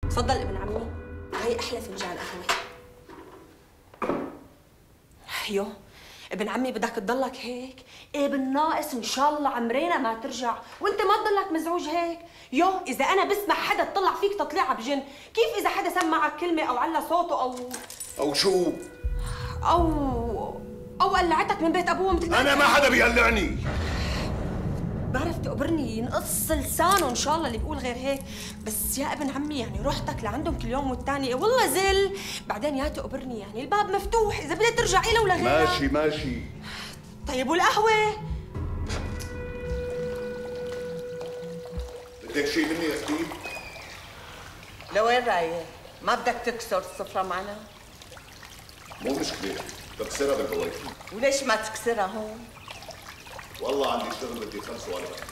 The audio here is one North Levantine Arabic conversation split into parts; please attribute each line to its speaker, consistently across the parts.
Speaker 1: تفضل ابن عمي، هي احلى فنجان قهوه. يو ابن عمي بدك تضلك هيك؟ ايه بالناقص ان شاء الله عمرينا ما ترجع، وانت ما تضلك مزعوج هيك. يو اذا انا بسمع حدا تطلع فيك تطليعه بجن، كيف اذا حدا سمعك كلمه او على صوته
Speaker 2: او شو؟
Speaker 1: او قلعتك من بيت ابوه
Speaker 2: انا ما حدا بيقلعني.
Speaker 1: بعرف تقبرني ينقص لسانه ان شاء الله اللي بيقول غير هيك، بس يا ابن عمي يعني روحتك لعندهم كل يوم والتاني والله زل، بعدين يا تقبرني يعني الباب مفتوح اذا بدك ترجع إله ولا غيرها.
Speaker 2: ماشي ماشي.
Speaker 1: طيب والقهوة؟
Speaker 2: بدك شيء مني يا اختي؟
Speaker 3: لوين رايح؟ ما بدك تكسر السفرة معنا؟
Speaker 2: مو مشكلة، بكسرها بالبواكي.
Speaker 3: وليش ما تكسرها هون؟
Speaker 2: والله عندي شغل بدي خلصه على وقتي.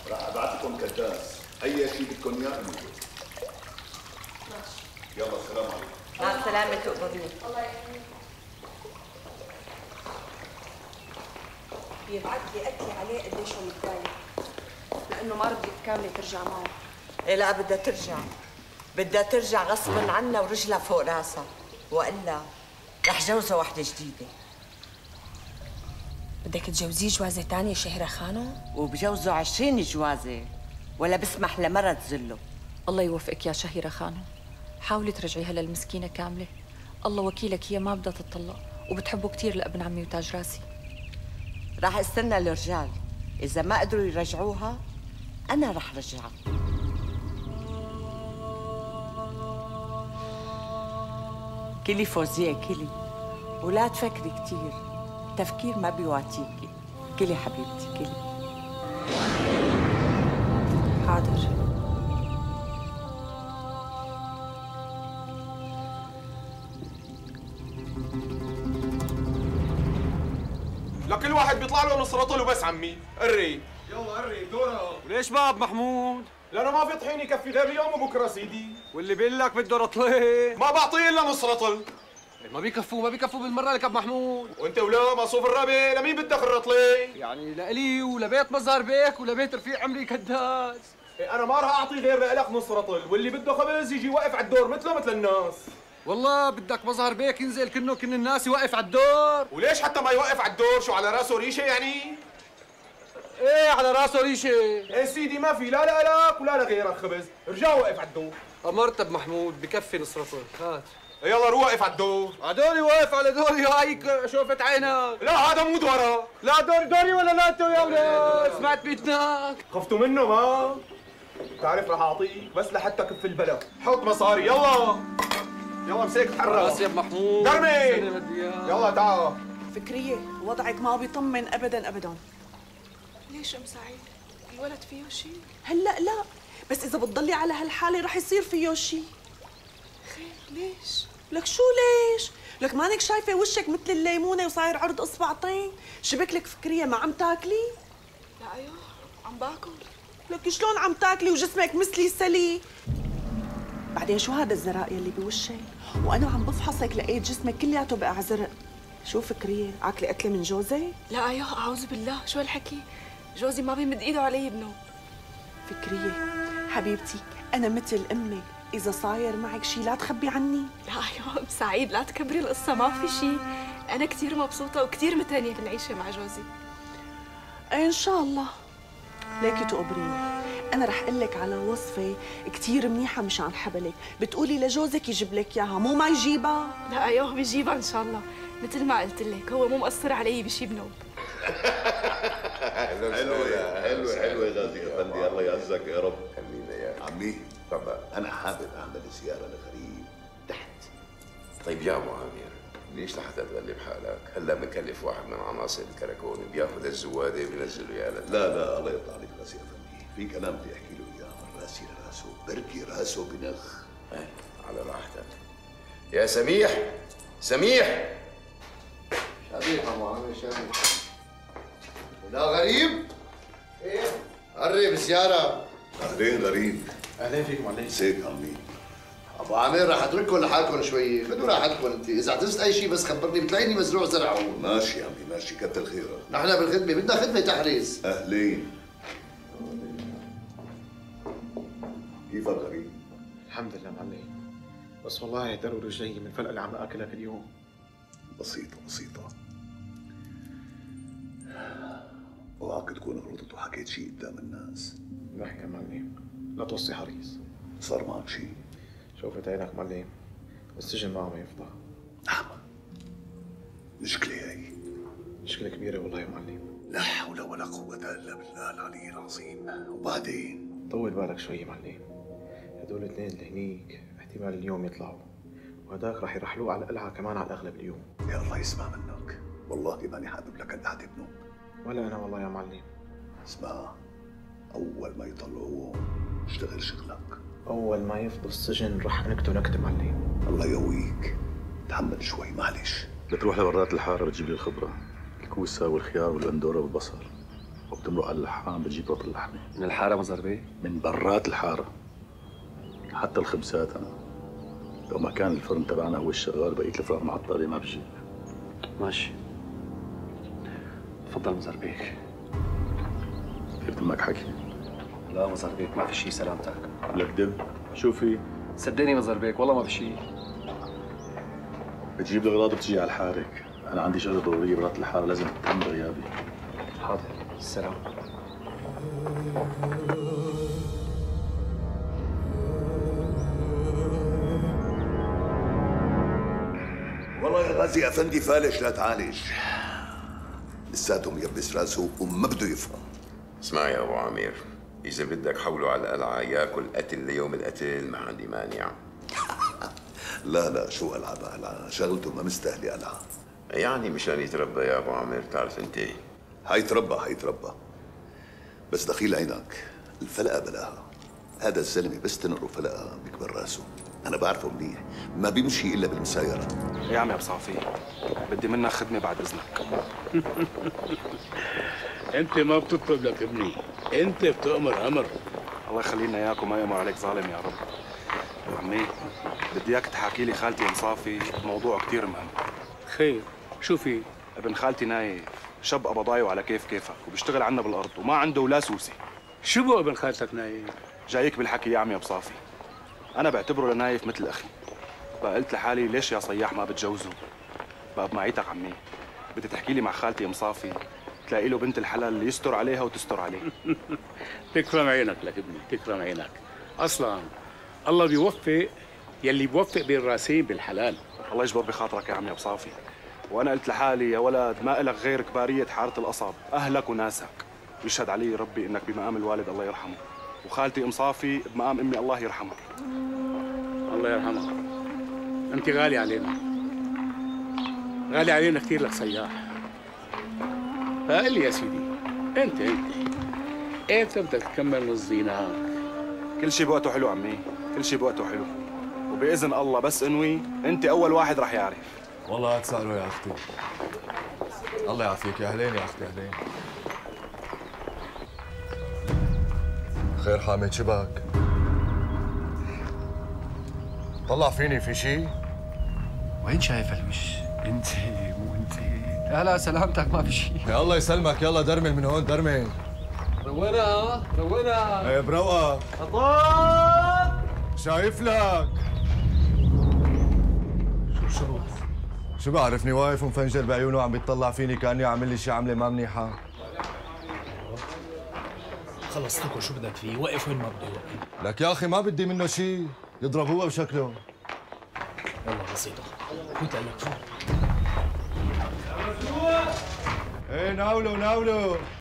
Speaker 2: راح ابعث لكم كداس، اي شيء بدكم اياه اعملوا. ماشي. يلا السلام عليكم.
Speaker 3: مع السلامة تقبرني.
Speaker 1: الله يحميك. بيبعت لي اكلي عليه قديش هو متضايق، لانه ما رضيت كامله ترجع معه.
Speaker 3: إيه لا بدها ترجع، بدها ترجع غصبا عنها ورجلها فوق راسها، والا رح جوزها وحده جديده.
Speaker 1: بدك تجوزيه جوازه ثانيه شهيرة خانو؟
Speaker 3: وبجوزه 20 جوازه، ولا بسمح لمرة تذله.
Speaker 4: الله يوفقك يا شهيرة خانو، حاولي ترجعيها للمسكينة كاملة، الله وكيلك هي ما بدها تطلق وبتحبه كثير لابن عمي وتاج راسي.
Speaker 3: راح استنى الرجال، إذا ما قدروا يرجعوها أنا راح رجعها. كلي فوزية كلي، ولا تفكري كثير، التفكير ما بيواتيكي. كلي حبيبتي كلي.
Speaker 1: حاضر.
Speaker 5: لكل واحد بيطلع له نص رطل وبس عمي، قري. يلا قري دورها.
Speaker 6: وليش باب محمود؟
Speaker 5: لانه ما في طحين يكفي غير اليوم وبكره سيدي.
Speaker 6: واللي بيقول لك بده رطلين
Speaker 5: ما بعطيه الا نص رطل.
Speaker 6: ما بيكفوا بالمره لك ابو محمود.
Speaker 5: وانت ولا مصروف الربع لمين بدك الرطلين؟
Speaker 6: يعني لإلي ولبيت مظهر بيك ولبيت رفيع عمري كداس.
Speaker 5: انا ما راح اعطي غير لك نص رطل، واللي بده خبز يجي واقف على الدور مثله مثل الناس.
Speaker 6: والله بدك مظهر بيك ينزل كن الناس يوقف على الدور.
Speaker 5: وليش حتى ما يوقف على الدور؟ شو على راسه ريشه يعني؟
Speaker 6: ايه على راسه ريشه.
Speaker 5: ايه سيدي ما في لا لك ولا لغيرك خبز، ارجع وقف على الدور.
Speaker 6: امرت ابو محمود بكفي نص رطل، هات.
Speaker 5: يلا روح وقف على الدور.
Speaker 6: عدوري واقف على دوري هايك شوفت عينك.
Speaker 5: لا هذا مو دورة.
Speaker 6: لا دوري ولا لا انتو يا ولاد سمعت بيدناك.
Speaker 5: خفتوا منه ما؟ تعرف رح اعطيك بس لحتى كف البلد، حط مصاري يلا. يلا مسك تحرك.
Speaker 6: خلاص يا محمود.
Speaker 5: درمي. يلا تعال.
Speaker 7: فكرية وضعك ما بيطمن ابدا ابدا.
Speaker 8: ليش ام سعيد؟ الولد فيه شيء؟
Speaker 7: هلا لا، بس اذا بتضلي على هالحالة رح يصير فيه شيء.
Speaker 8: خير ليش؟
Speaker 7: لك شو ليش؟ لك مانك شايفة وشك مثل الليمونة وصاير عرض اصبعتين؟ شبك لك فكرية ما عم تاكلي؟
Speaker 8: لا ايوه عم باكل.
Speaker 7: لك شلون عم تاكلي وجسمك مثلي سلي؟ بعدين شو هذا الزرق يلي بوشك؟ وانا عم بفحصك لقيت جسمك كلياته بقى زرق. شو فكرية؟ عاكلي قتلة من جوزي؟
Speaker 8: لا ايوه اعوذ بالله، شو هالحكي؟ جوزي ما بيمد ايده علي بنوب.
Speaker 7: فكرية حبيبتي أنا مثل أمك، إذا صاير معك شي لا تخبي عني.
Speaker 8: لا ايوه ام سعيد لا تكبري القصة، ما في شيء. أنا كثير مبسوطة وكثير متهنية بالعيشة مع جوزي.
Speaker 7: إن شاء الله. ليكي تقبريني، أنا رح أقول لك على وصفة كثير منيحة مشان حبلك، بتقولي لجوزك يجيب لك إياها، مو ما يجيبها؟
Speaker 8: لا ايوه بيجيبها إن شاء الله، مثل ما قلت لك هو مو مقصر علي بشي بنوب.
Speaker 2: حلوة يا غازي افندي، الله يعزك يا رب.
Speaker 9: حبيبي يا
Speaker 2: عمي
Speaker 9: طبعا.
Speaker 2: انا حابب اعمل زياره لغريب تحت.
Speaker 9: طيب يا ابو عامر ليش لحتى تغلب حالك؟ هلا مكلف واحد من عناصر الكراكون بياخذ الزواده بينزله يا لد.
Speaker 2: لا الله يرضى عليك غازي افندي، في كلام بدي احكي له اياه من راسي لراسه، بركي راسه بنخ.
Speaker 9: ايه على راحتك. يا سميح
Speaker 10: شبيح ابو عامر شبيح. لا غريب؟ ايه؟ قرب زيارة.
Speaker 2: اهلين غريب.
Speaker 10: اهلين فيكم عليك.
Speaker 2: ازيك عمي؟
Speaker 10: ابو عامر رح اترككم لحالكم شوي، خذوا راحتكم انت، اذا اعتزت اي شيء بس خبرني، بتلاقيني مزروع زرع.
Speaker 2: ماشي يا عمي ماشي، كتر خيرك.
Speaker 10: نحن بالخدمة، بدنا خدمة تحريز.
Speaker 2: اهلين. كيفك غريب؟
Speaker 5: الحمد لله معلم. بس والله ضروري رجلي من الفلقه اللي عم اكلها كل يوم.
Speaker 2: بسيطة بسيطة. اوعك تكون غلطت وحكيت شيء قدام الناس.
Speaker 5: لا يا معلم، لا توصي حريص.
Speaker 2: صار معك شيء؟
Speaker 5: شوفت عينك معلم، السجن ما عم يفضى.
Speaker 2: أحمد، مشكلة هي.
Speaker 5: مشكلة كبيرة والله يا معلم.
Speaker 2: لا حول ولا قوة إلا بالله العلي العظيم. وبعدين؟
Speaker 5: طول بالك شوي معلم. هدول الاثنين اللي هنيك احتمال اليوم يطلعوا، وهداك رح يرحلوه على القلعة كمان على الأغلب اليوم.
Speaker 2: يا الله يسمع منك، والله ماني حابب لك القعدة بنوم.
Speaker 5: ولا أنا والله يا معلم.
Speaker 2: اسمع، أول ما يطلعوه اشتغل شغلك.
Speaker 5: أول ما يفضوا السجن رح أنكته نكتة معلم.
Speaker 2: الله يقويك، تحمل شوي معلش.
Speaker 11: بتروح لبرات الحارة بتجيب لي الخبرة، الكوسة والخيار والبندورة والبصل، وبتمرق على اللحام بتجيب رط اللحمة.
Speaker 12: من الحارة مزار بيه؟
Speaker 11: من برات الحارة. حتى الخبزات أنا لو ما كان الفرن تبعنا هو الشغال بقيت الفرن معطلة ما بجيب.
Speaker 12: ماشي. تفضل مزار بيك.
Speaker 11: في بدك حكي؟
Speaker 12: لا مزار بيك ما في شيء سلامتك.
Speaker 11: لك دب؟ شو في؟
Speaker 12: صدقني مزار بيك والله ما في شيء.
Speaker 11: بتجيب الأغراض وبتجي على الحارك، أنا عندي شغلة ضرورية برات الحارة لازم تتم بغيابي.
Speaker 12: حاضر، السلام.
Speaker 2: والله يا غازي افندي فالش لا تعالج. لساته ميبس راسه وما بده يفهم.
Speaker 9: اسمع يا ابو عامر، اذا بدك حوله على القلعه ياكل قتل ليوم القتل ما عندي مانع.
Speaker 2: لا لا، شو قلعه شغلته ما مستاهله قلعه.
Speaker 9: يعني مشان يتربى يا ابو عامر، تعرف انت
Speaker 2: حيتربى بس دخيل عينك، الفلقه بلاها. هذا الزلمه بس تنقره فلقه بيكبر راسه. انا بعرفه منيح، ما بيمشي الا بالمسايره.
Speaker 12: يا عمي ابو صافي، بدي منك خدمه بعد اذنك.
Speaker 13: انت ما بتطلب لك ابني، انت بتأمر امر.
Speaker 12: الله يخلي لنا اياك وما يأمر عليك ظالم يا رب. عمي بدي اياك تحكي لي خالتي ام صافي موضوع كثير مهم.
Speaker 13: خير، شو في؟
Speaker 12: ابن خالتي نايف شاب قبضاي وعلى كيفك وبيشتغل عنا بالارض وما عنده ولا سوسي.
Speaker 13: شو بقى ابن خالتك نايف؟
Speaker 12: جايك بالحكي يا عمي ابو صافي. انا بعتبره لنايف مثل اخي. بقى قلت لحالي ليش يا صياح ما بتجوزه؟ بقى بمعيتك عمي، بدي تحكي لي مع خالتي ام صافي تلاقي له بنت الحلال اللي يستر عليها وتستر عليه.
Speaker 13: تكرم عينك لك ابني، تكرم عينك. اصلا الله بيوفق يلي بيوفق بين راسين بالحلال.
Speaker 12: الله يجبر بخاطرك يا عمي ابو صافي. وانا قلت لحالي يا ولد ما إلك غير كباريه حاره القصب، اهلك وناسك. ويشهد علي ربي انك بمقام الوالد الله يرحمه، وخالتي ام صافي بمقام امي الله يرحمها.
Speaker 13: الله يرحمها. انت غالي علينا، غالي علينا كثير لك سياح. فقل لي يا سيدي، انت امتى بدك تكمل نص دينار؟
Speaker 12: كل شيء بوقته حلو عمي، كل شيء بوقته حلو، وباذن الله بس انوي انت اول واحد رح يعرف.
Speaker 14: والله تسألوا يا اختي. الله يعافيك. يا اهلين يا اختي، اهلين. خير حامد، شبك؟ طلع فيني، في شيء؟
Speaker 15: وين شايف الوش؟ انت مو انت. لا سلامتك ما في شيء.
Speaker 14: يا الله يسلمك، يلا درمل من هون، درمل. رونا. ايه بروقة. خطاب. شايف لك. شو بعرفني واقف ومفنجر بعيونه وعم بيطلع فيني كأني عامل لي شي عملة ما منيحة.
Speaker 15: خلص لكم شو بدك فيه، وقف وين ما بده يوقف.
Speaker 14: لك يا أخي ما بدي منه شي، يضربوها بشكله.
Speaker 15: والله بسيطة، فوت لك فوت.
Speaker 14: ايه ناولوا